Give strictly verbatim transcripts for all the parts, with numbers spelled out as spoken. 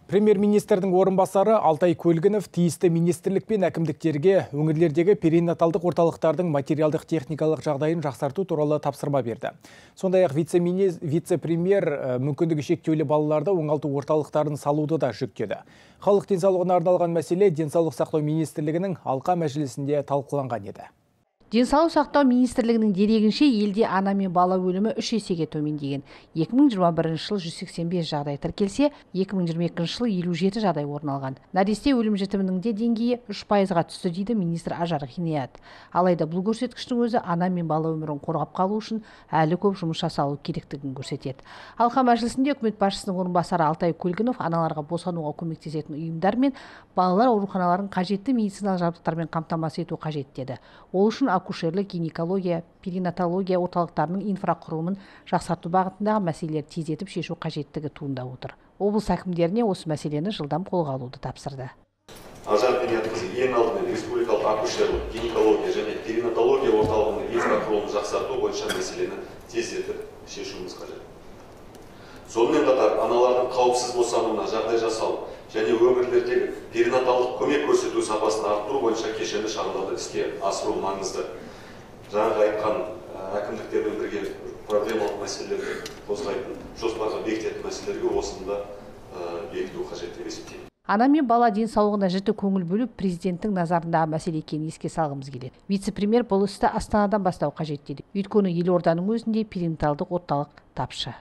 Премьер-министрдің орынбасары Алтай Көлгінов тиісті министрлік пен әкімдіктерге өңірлердегі перинаталдық орталықтардың материалдық техникалық жағдайын жақсарту туралы тапсырма берді. Сондай-ақ вице-премьер мүмкіндігі шектеулі балаларды оңалту орталықтарын салуды да жүктеді. Халық денсаулығына арналған мәселе денсаулық сақтау министрлігінің алқа мәжілісінде талқыланған еді. Денсаулық сақтау министрлігінің дерегінше елде ана мен бала өлімі үш есеге төмендеген. екі мың жиырма бірінші жылы жүз сексен бес жағдай тіркелсе, екі мың жиырма екінші жылы елу жеті жағдай орын алған. Нәресте өлім жітімінің де деңгейі үш пайызға түсті дейді министр Ажар Ғиният. Алайда бұл көрсеткіштің өзі ана мен бала өмірін қорғап қалу үшін әлі көп жұмыс жасалу керектігін көрсетеді. Алқа мәжілісінде үкімет басшысының орынбасары Алтай Көлгінов аналарға босануға көмектесетін ұйымдар мен балалар ауруханаларын қажетті медициналық жабдықтармен қамтамасыз ету қажет деді. Ол үшін акушерлік, гинекология, перинатология орталықтарының инфрақұрылымын жақсарту бағытындағы мәселелер тездетіп шешу қажеттігі туындап отыр. Облыс әкімдеріне осы мәселені жылдам қолға алуды тапсырды. Ажар Ғиният қызы ең алдымен республикалық акушерлік, гинекология және перинатология орталығының инфрақұрылымын жақсарту бойынша мәселені тездетіп шешуіміз қажет. Сонымен қатар аналардың қауіпсіз босануына жағдай жасау және өңірлердегі перинаталдық көмек көрсету сапасын арттыру бойынша кешенді шараларды іске асыру маңызды. Жаңағы айтқан әкімдіктермен бірге проблемалық мәселелерді қозғайтын жоспарға бекітетін мәселелерге осында бекіту қажет деп есептеймін. Ана мен бала денсаулығына жіті көңіл бөліп, президенттің назарындағы мәселе екенін еске салғымыз келеді. Вице-премьер бұл істі Астанадан бастау қажет дейді. Өйткені елорданың өзінде перинаталдық орталық тапшы.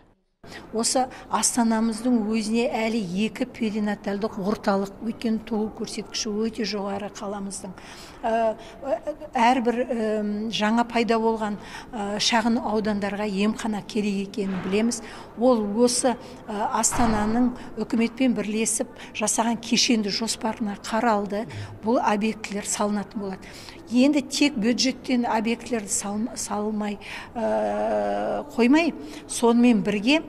Осы Астанамыздың өзіне әлі екі перинаталдық орталық, өйткені туу көрсеткіші өте жоғары қаламыздың. Әрбір жаңа пайда болған шағын аудандарға емхана керек екенін білеміз. Ол осы Астананың үкіметпен бірлесіп жасаған кешенді жоспарына қаралды. Бұл объектілер салынатын болады. Енді тек бюджеттен объектілерді салмай қоймай, сонымен бірге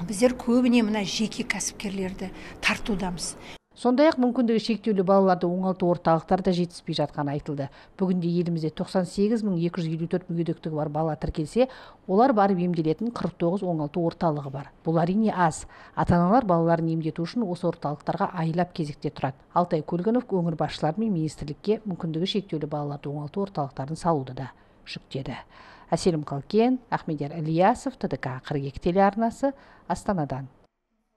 біздер көбіне мына жеке кәсіпкерлерді тартудамыз. Сондай-ақ мүмкіндігі шектеулі балаларды оңалту орталықтары да жетіспей жатқаны айтылды. Бүгінде елімізде тоқсан сегіз мың екі жүз елу төрт мүгедектігі бар бала тіркелсе, олар барып емделетін қырық тоғыз оңалту орталығы бар. Бұл әрине аз. Ата-аналар балаларын емдету үшін осы орталықтарға айлап кезекте тұрады. Алтай Көлгінов өңір басшылары мен министрлікке мүмкіндігі шектеулі балаларды оңалту орталықтарын салуды да жүктеді. Әселім Қалкен, Ахмедияр Ильясов, Т Д К қырық екі телеарнасы, Астанадан.